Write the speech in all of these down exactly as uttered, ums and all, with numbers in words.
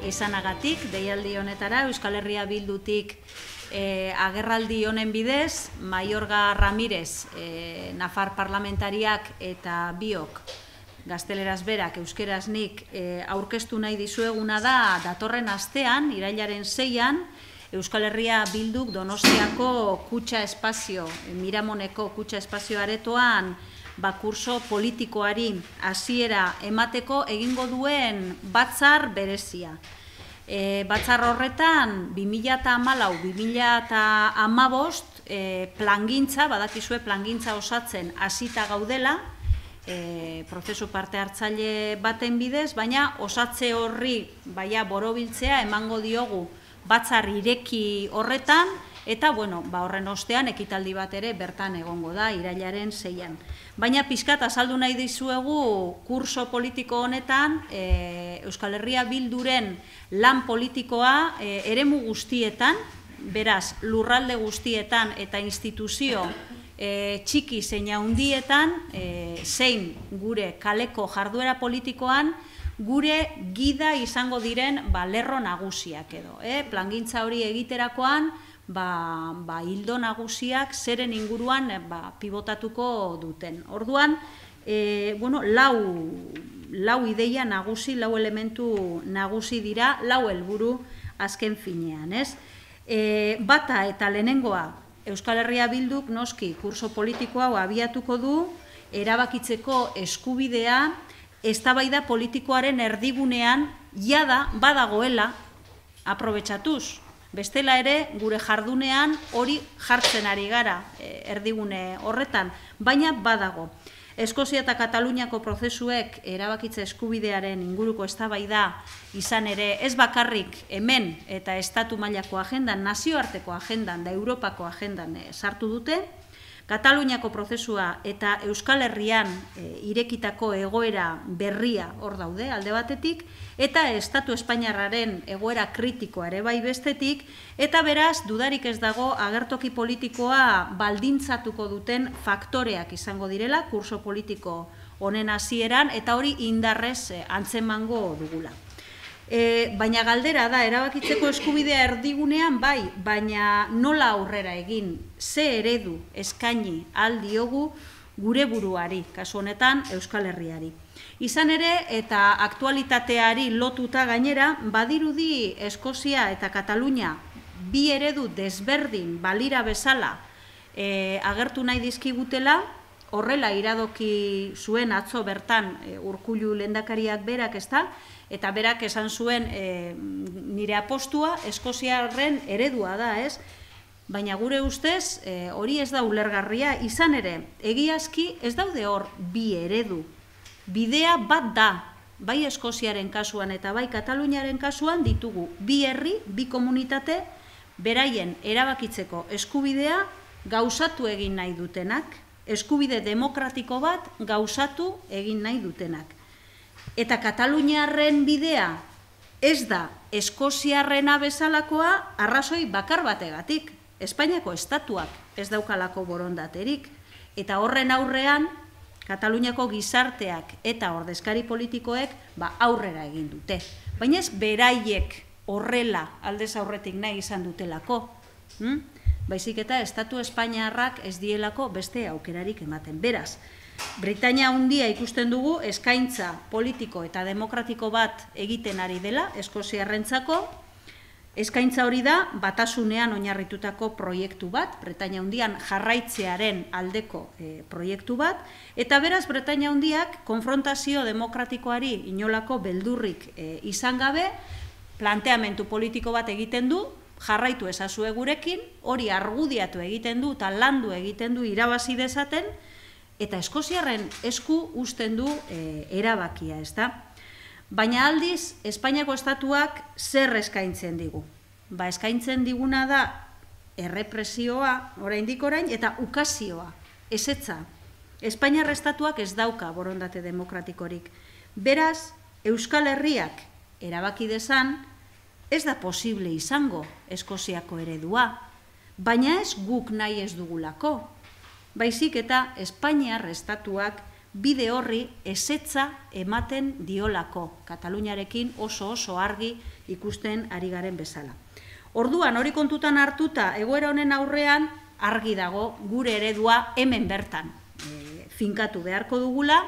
esanagatik, deialdi honetara, Euskal Herria Bildutik agerraldi honen bidez, Maiorga Ramirez, Nafar parlamentariak eta biok, gazteleraz berak, euskeraz nik, aurkeztu nahi dizueguna da, datorren astean, irailaren seian, Euskal Herria Bilduk Donostiako kutxa espazio, Miramoneko kutxa espazio aretoan, kurso politikoari hasiera emateko egingo duen batzar berezia. Batzar horretan, bi mila hamalau bi mila hamabost plangintza, badakizue plangintza osatzen hasita gaudela, prozesu parte hartzaile baten bidez, baina osatze horri borobiltzea emango diogu batzar ireki horretan, eta horren ostean ekitaldi bat ere bertan egongo da, irailaren seian. Baina pixkat azaldu nahi dizuegu kurso politiko honetan Euskal Herria Bilduren lan politikoa eremu guztietan, beraz lurralde guztietan eta instituzio txiki zein handietan, zein gure kaleko jarduera politikoan, gure gida izango diren lerro nagusiak edo. Plangintza hori egiterakoan, hildo nagusiak zeren inguruan pibotatuko duten. Orduan, lau ideia nagusi, lau elementu nagusi dira, lau helburu azken finean. Bata eta lehenengoa, Euskal Herria Bilduk noski kurso politikoa abiatuko du, erabakitzeko eskubidea, eztabaida politikoaren erdigunean jada badagoela aprobetxatuz. Bestela ere, gure jardunean hori jartzen ari gara erdigune horretan, baina badago. Eskozia eta Kataluniako prozesuek erabakitze eskubidearen inguruko eztabaida izan ere ez bakarrik hemen eta estatu mailako agendan, nazioarteko agendan da Europako agendan sartu dute, Kataluniako prozesua eta Euskal Herrian irekitako egoera berria hor daude alde batetik, eta Estatu Espainiarraren egoera kritikoa ere bai bestetik, eta beraz, dudarik ez dago agertoki politikoa baldintzatuko duten faktoreak izango direla, kurso politiko honen hasieran, eta hori indarrez antzemango dugula. Baina galdera da, erabakitzeko eskubidea erdigunean bai, baina nola aurrera egin, ze eredu eskaini aldiogu gure buruari, kasu honetan Euskal Herriari. Izan ere, eta aktualitateari lotuta gainera, badirudi Eskozia eta Katalunia bi eredu desberdin balira bezala agertu nahi dizkigutela, horrela iradoki zuen atzo bertan Urkullu lehendakariak berak, ezta? Eta berak esan zuen nire apostua Eskoziarren eredua da, ez? Baina gure ustez hori ez da ulergarria, izan ere, egiazki ez daude hor bi eredu. Bidea bat da, bai Eskoziaren kasuan eta bai Kataluniaren kasuan ditugu bi herri, bi komunitate, beraien erabakitzeko eskubidea gauzatu egin nahi dutenak, eskubide demokratiko bat gauzatu egin nahi dutenak. Eta Kataluniarren bidea ez da Eskoziarrena bezalakoa arrazoi bakar bategatik. Espainiako estatuak ez daukalako borondaterik. Eta horren aurrean, Kataluniako gizarteak eta ordezkari politikoek aurrera egin dute. Baina ez beraiek horrela aldez aurretik nahi izan dutelako. Baizik eta Estatu Espainiarrak ez dielako beste aukerarik ematen. Beraz, Britainia handia ikusten dugu eskaintza politiko eta demokratiko bat egiten ari dela Eskoziarrentzako. Eskaintza hori da batasunean oinarritutako proiektu bat, Britainia handian jarraitzearen aldeko proiektu bat, eta beraz Britainia handiak konfrontazio demokratikoari inolako beldurrik izan gabe, planteamendu politiko bat egiten du, jarraitu ezazue gurekin, hori argudiatu egiten du eta landu egiten du irabazi dezaten, eta Eskoziarren esku uzten du erabakia, ez da? Baina aldiz, Espainiako estatuak zer eskaintzen digu? Ba, eskaintzen diguna da errepresioa, oraindik orain, eta ukazioa, ezetza. Espainiar estatuak ez dauka borondate demokratikorik. Beraz, Euskal Herriak erabaki dezan, ez da posible izango Eskoziako eredua, baina ez guk nahi ez dugulako. Baizik eta Espainiar estatuak bide horri ezetza ematen diolako, Kataluniarekin oso oso argi ikusten ari garen bezala. Orduan, hori kontutan hartuta, egoera honen aurrean, argi dago gure eredua hemen bertan e, finkatu beharko dugula,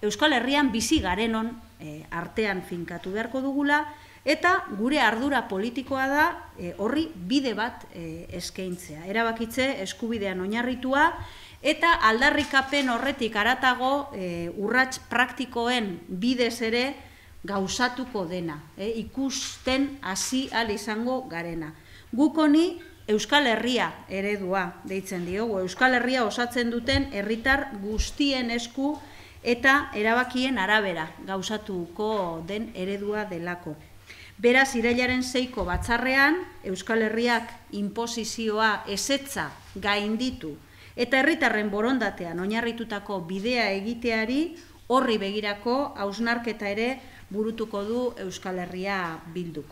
Euskal Herrian bizi garenon e, artean finkatu beharko dugula, eta gure ardura politikoa da e, horri bide bat e, eskaintzea. Erabakitze eskubidean oinarritua, eta aldarrikapen horretik haratago e, urrats praktikoen bidez ere gauzatuko dena, e, ikusten hasi ahal izango garena. Guk honi Euskal Herria eredua deitzen diogu, Euskal Herria osatzen duten herritar guztien esku eta erabakien arabera gauzatuko den eredua delako. Beraz, irailaren seiko batzarrean, Euskal Herriak inposizioa ezetza gainditu eta herritarren borondatean oinarritutako bidea egiteari horri begirako hausnarketa ere burutuko du Euskal Herria Bilduk.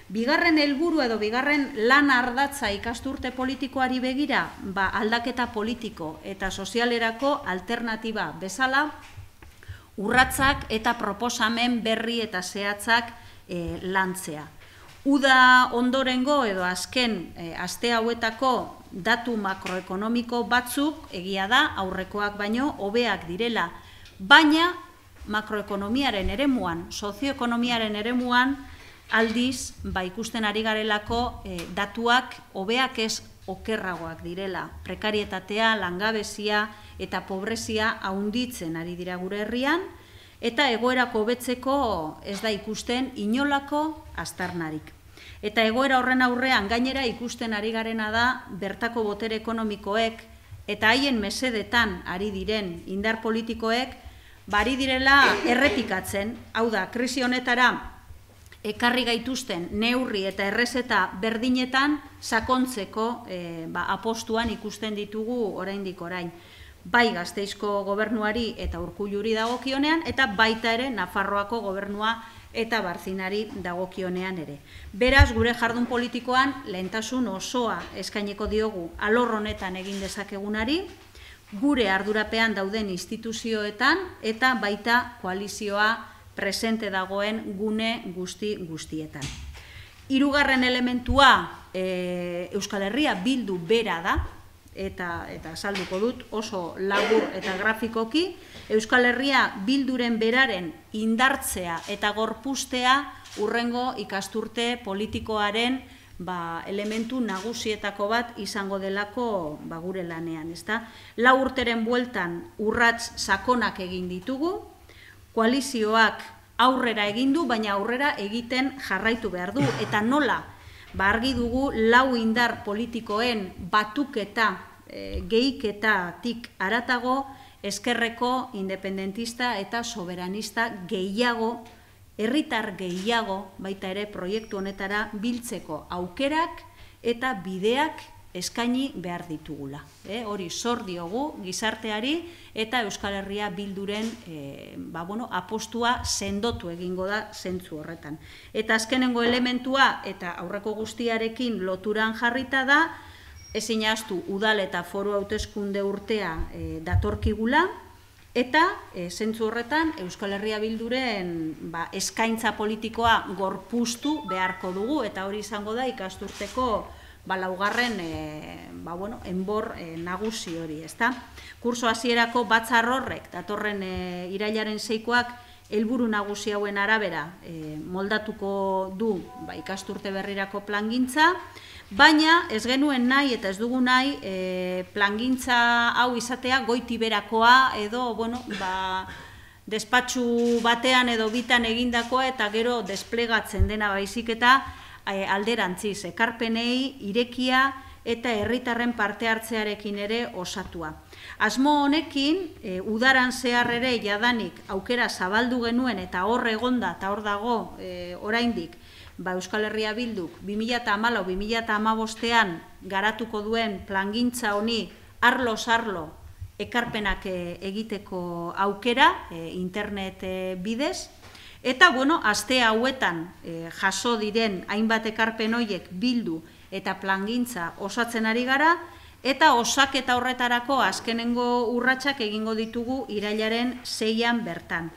Bigarren helburu edo bigarren lan ardatza ikasturte politikoari begira, ba, aldaketa politiko eta sozialerako alternatiba bezala, urratsak eta proposamen berri eta zehatzak e, lantzea. Uda ondorengo edo azken e, aste hauetako datu makroekonomiko batzuk egia da aurrekoak baino hobeak direla, baina makroekonomiaren eremuan, sozioekonomiaren eremuan aldiz ba ikusten ari garelako e, datuak hobeak ez okerragoak direla. Prekarietatea, langabezia eta pobrezia haunditzen ari dira gure herrian, eta egoerako hobetzeko ez da ikusten inolako aztarnarik. Eta egoera horren aurrean gainera ikusten ari garena da bertako botere ekonomikoek eta haien mesedetan ari diren indar politikoek bari direla errepikatzen, hau da, krisi honetara ekarri gaituzten neurri eta errezeta berdinetan sakontzeko e, ba, apostuan ikusten ditugu oraindik orain. Bai Gasteizko gobernuari eta Urkulluri dagokionean, eta baita ere Nafarroako gobernua eta Barzinari dagokionean ere. Beraz, gure jardun politikoan lehentasun osoa eskaineko diogu alor honetan egin dezakegunari, gure ardurapean dauden instituzioetan eta baita koalizioa presente dagoen gune guzti guztietan. Hirugarren elementua e, Euskal Herria Bildu bera da, eta eta salduko dut oso labur eta grafikoki, Euskal Herria Bilduren beraren indartzea eta gorpustea urrengo ikasturte politikoaren ba, elementu nagusietako bat izango delako ba, gure lanean. Ezta? Lau urteren bueltan urrats sakonak egin ditugu, koalizioak aurrera egin du, baina aurrera egiten jarraitu behar du. Eta nola, ba, argi dugu lau indar politikoen batuketa, e, gehiketatik haratago, ezkerreko independentista eta soberanista gehiago, herritar gehiago, baita ere proiektu honetara biltzeko aukerak eta bideak eskaini behar ditugula. E, hori zor diogu gizarteari eta Euskal Herria Bilduren e, ba, bueno, apostua sendotu egingo da zentzu horretan. Eta azkenengo elementua eta aurreko guztiarekin loturan jarrita da, ezin ahaztu udal eta foru hauteskunde urtea e, datorkigula, eta e, zentzu horretan Euskal Herria Bilduren ba, eskaintza politikoa gorpuztu beharko dugu, eta hori izango da ikasturteko ba, laugarren e, ba, bueno, enbor e, nagusi hori, ezta? Kurso hasierako batzar horrek, datorren e, irailaren seikoak, helburu nagusi hauen arabera e, moldatuko du ba, ikasturte berrirako plangintza, baina ez genuen nahi eta ez dugu nahi e, plangintza hau izatea goitiberakoa edo, bueno, ba, despatxu batean edo bitan egindakoa eta gero desplegatzen dena baizik eta alderantziz, ekarpenei irekia eta herritarren parte hartzearekin ere osatua. Asmo honekin, e, udaran zehar ere jadanik aukera zabaldu genuen eta hor egonda eta hor dago e, oraindik ba, Euskal Herria Bilduk bi mila hamalau bi mila hamabostean garatuko duen plangintza honi arloz arlo ekarpenak e, egiteko aukera e, internet e, bidez. Eta, bueno, aste hauetan e, jaso diren hainbat ekarpen horiek bildu eta plangintza osatzen ari gara, eta osaketa horretarako azkenengo urratsak egingo ditugu irailaren seian bertan.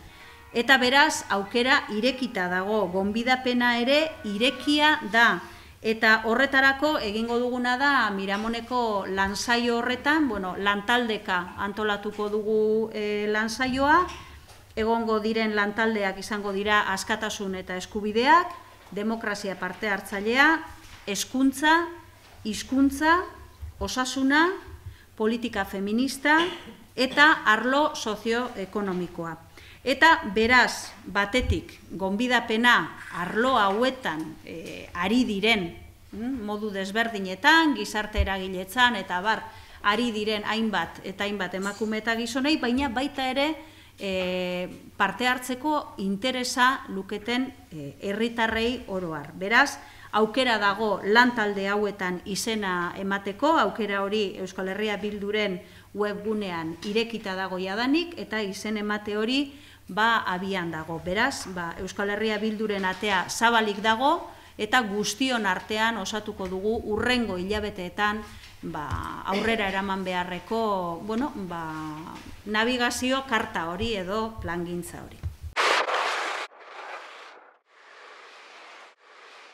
Eta beraz, aukera irekita dago, gonbidapena ere irekia da. Eta horretarako egingo duguna da Miramoneko lansaio horretan, bueno, lantaldeka antolatuko dugu e, lansaioa, egongo diren lantaldeak izango dira askatasun eta eskubideak, demokrazia parte hartzailea, hezkuntza, hizkuntza, osasuna, politika feminista eta arlo sozioekonomikoa. Eta beraz, batetik, gonbidapena arlo hauetan e, ari diren, mm, modu desberdinetan, gizarte eragiletzan eta bar, ari diren hainbat eta hainbat emakume eta gizonei, baina baita ere e, parte hartzeko interesa luketen e, herritarrei oroar. Beraz, aukera dago lantalde hauetan izena emateko, aukera hori Euskal Herria Bilduren webgunean irekita dago jadanik, eta izen emate hori ba abian dago. Beraz, ba, Euskal Herria Bilduren atea zabalik dago, eta guztion artean osatuko dugu urrengo hilabeteetan ba, aurrera eraman beharreko bueno, ba, navigazio karta hori edo plangintza hori.